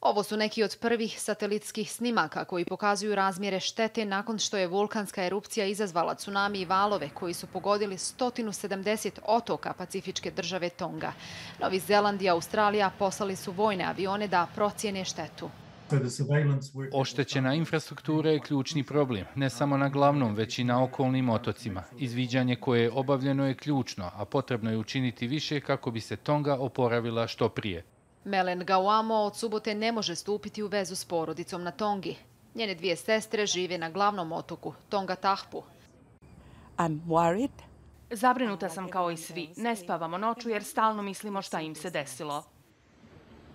Ovo su neki od prvih satelitskih snimaka koji pokazuju razmjere štete nakon što je vulkanska erupcija izazvala tsunami i valove koji su pogodili 170 otoka pacifičke države Tonga. Novi Zeland i Australija poslali su vojne avione da procijene štetu. Oštećena infrastruktura je ključni problem, ne samo na glavnom, već i na okolnim otocima. Izviđanje koje je obavljeno je ključno, a potrebno je učiniti više kako bi se Tonga oporavila što prije. Melen Gauamo od subote ne može stupiti u vezu s porodicom na Tongi. Njene dvije sestre žive na glavnom otoku, Tonga Tahpu. Zabrinuta sam kao i svi. Ne spavamo noću jer stalno mislimo šta im se desilo.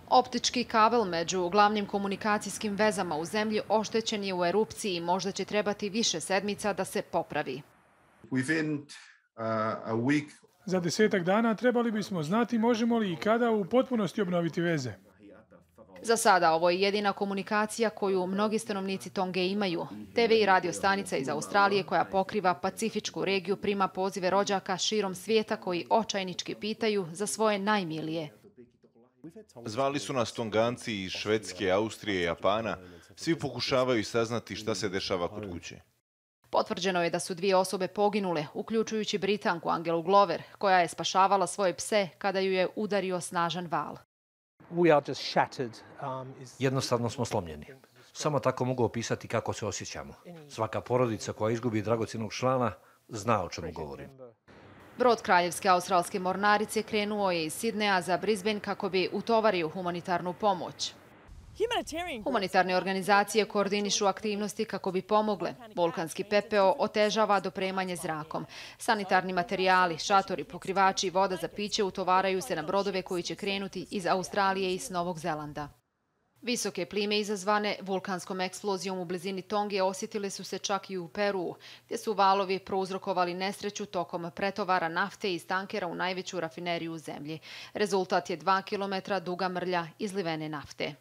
Optički kabel među glavnim komunikacijskim vezama u zemlji oštećen je u erupciji i možda će trebati više sedmica da se popravi. Za 10 dana trebali bismo znati možemo li i kada u potpunosti obnoviti veze. Za sada ovo je jedina komunikacija koju mnogi stanovnici Tonge imaju. TV i radio stanica iz Australije koja pokriva pacifičku regiju prima pozive rođaka širom svijeta koji očajnički pitaju za svoje najmilije. Zvali su nas Tonganci iz Švedske, Austrije i Japana. Svi pokušavaju saznati šta se dešava kod kuće. Potvrđeno je da su 2 osobe poginule, uključujući Britanku Angelu Glover, koja je spašavala svoje pse kada ju je udario snažan val. Jednostavno smo slomljeni. Samo tako mogu opisati kako se osjećamo. Svaka porodica koja izgubi dragocjenog člana zna o čemu govorim. Brod Kraljevske australske mornarice krenuo je iz Sidneja za Brisbane kako bi utovario humanitarnu pomoć. Humanitarne organizacije koordinišu aktivnosti kako bi pomogle. Vulkanski pepeo otežava dopremanje zrakom. Sanitarni materijali, šatori, pokrivači i voda za piće utovaraju se na brodove koji će krenuti iz Australije i s Novog Zelanda. Visoke plime izazvane vulkanskom eksplozijom u blizini Tonge osjetile su se čak i u Peruu, gdje su valovi prouzrokovali nesreću tokom pretovara nafte iz tankera u najveću rafineriju u zemlji. Rezultat je 2 kilometra duga mrlja izlivene nafte.